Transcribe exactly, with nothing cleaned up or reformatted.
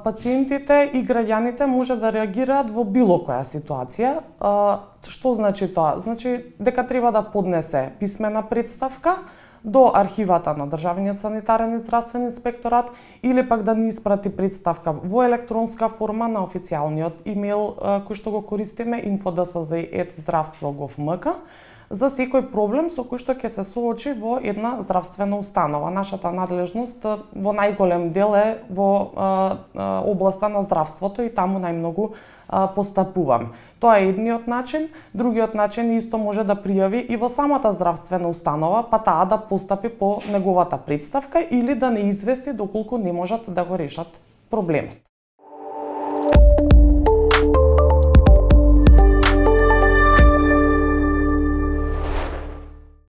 Пациентите и граѓаните може да реагираат во било која ситуација. Што значи тоа? Значи дека треба да поднесе писмена представка до архивата на Државниот санитарен и здравствен инспекторат или пак да ни испрати представка во електронска форма на официјалниот имејл кој што го користиме инфо д с з ет здравство точка гов точка м к за секој проблем со кој што ќе се соочи во една здравствена установа. Нашата надлежност во најголем дел е во а, а, областа на здравството и таму најмногу а, постапувам. Тоа е едниот начин. Другиот начин исто може да пријави и во самата здравствена установа, па таа да постапи по неговата представка или да не извести доколку не можат да го решат проблемот.